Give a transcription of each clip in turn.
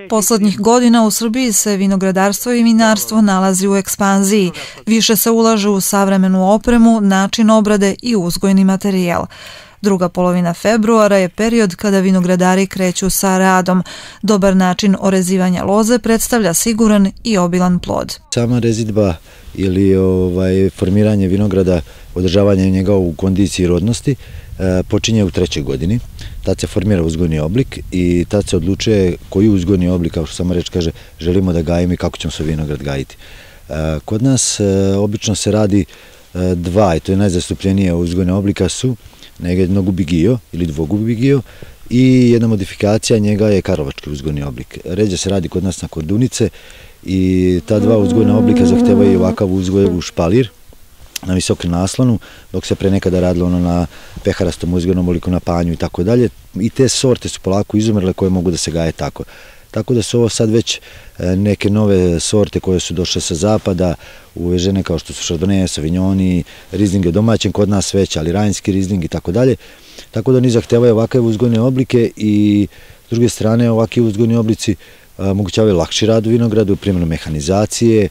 Poslednjih godina u Srbiji se vinogradarstvo i vinarstvo nalazi u ekspanziji. Više se ulaže u savremenu opremu, način obrade i uzgojni materijal. Druga polovina februara je period kada vinogradari kreću sa radom. Dobar način orezivanja loze predstavlja siguran i obilan plod. Sama rezidba ili formiranje vinograda, održavanje njega u kondiciji rodnosti počinje u 3. godini. Tad se formira uzgojni oblik i tad se odlučuje koji uzgojni oblik, kao što sama reč kaže, želimo da gajimo i kako ćemo se vinograd gajiti. Kod nas obično se radi dva, i to je najzastupljenije uzgojne oblika su jednogubi gio ili dvogubi gio i jedna modifikacija njega je karlovački uzgojni oblik. Ređe se radi kod nas na kordunice i ta dva uzgojna oblika zahtevaju ovakav uzgoj u špalir na visokom naslonu, dok se pre nekada radilo na peharastom uzgojnom obliku na panju i tako dalje. I te sorte su polako izumrle koje mogu da se gaje tako. Tako da su ovo sad već neke nove sorte koje su došle sa zapada, uvežene kao što su Chardonnay, Sauvignon, Riesling je domaćen kod nas već, ali Rajnski Riesling i tako dalje. Tako da oni zahtevaju ovakve uzgojne oblike i s druge strane ovakvi uzgojni oblici omogućavaju lakši rad u vinogradu, primjenu mehanizacije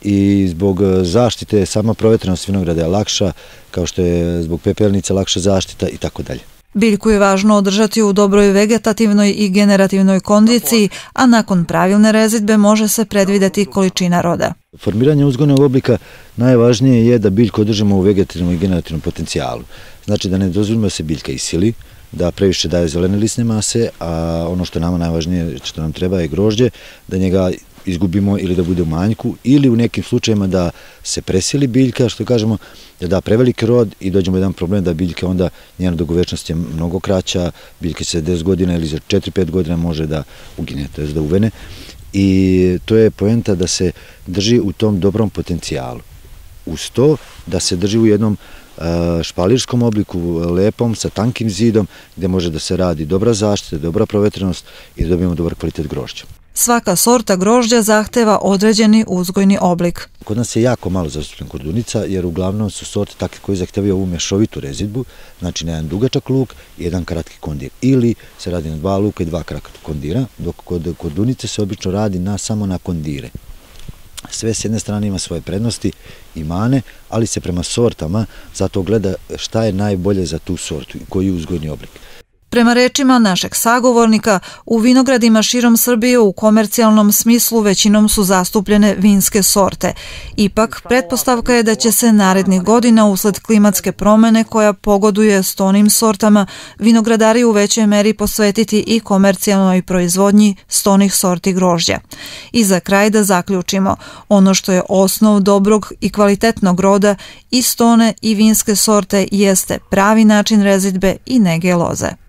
i zbog zaštite sama provetrenost vinograda je lakša, kao što je zbog pepelnica lakša zaštita i tako dalje. Biljku je važno održati u dobroj vegetativnoj i generativnoj kondiciji, a nakon pravilne rezidbe može se predvideti količina roda. Formiranje uzgojnog oblika najvažnije je da biljku održimo u vegetativnom i generativnom potencijalu. Znači da ne dozvolimo da se biljka isili, da previše daje zelene lisne mase, a ono što nama najvažnije, što nam treba je grožđe, da njega izgubimo ili da bude u manjku ili u nekim slučajima da se presili biljka, što kažemo, da da preveliki rod i dođemo do jedan problem da biljka onda njena dugovečnost je mnogo kraća, biljka se 10 godina ili za 4-5 godina može da ugine, to je da uvene i to je poenta da se drži u tom dobrom potencijalu. Uz to da se drži u jednom špalirskom obliku, lepom, sa tankim zidom, gde može da se radi dobra zaštita, dobra provetrenost i da dobijemo dobar kvalitet grožđa. Svaka sorta grožđa zahteva određeni uzgojni oblik. Kod nas je jako malo zastupljen kordunica, jer uglavnom su sorte takve koje zahtevaju ovu mešovitu rezidbu, znači na jedan dugačak luk i jedan kratki kondir. Ili se radi na 2 luka i 2 kratka kondira, dok kod kordunice se obično radi samo na kondire. Sve s jedne strane ima svoje prednosti i mane, ali se prema sortama zato gleda šta je najbolje za tu sortu i koji je uzgojni oblik. Prema rečima našeg sagovornika, u vinogradima širom Srbije u komercijalnom smislu većinom su zastupljene vinske sorte. Ipak, pretpostavka je da će se narednih godina usled klimatske promene koja pogoduje stonim sortama, vinogradari u većoj meri posvetiti i komercijalnoj proizvodnji stonih sorti grožđa. I za kraj da zaključimo, ono što je osnov dobrog i kvalitetnog roda i stone i vinske sorte jeste pravi način rezidbe i nege loze.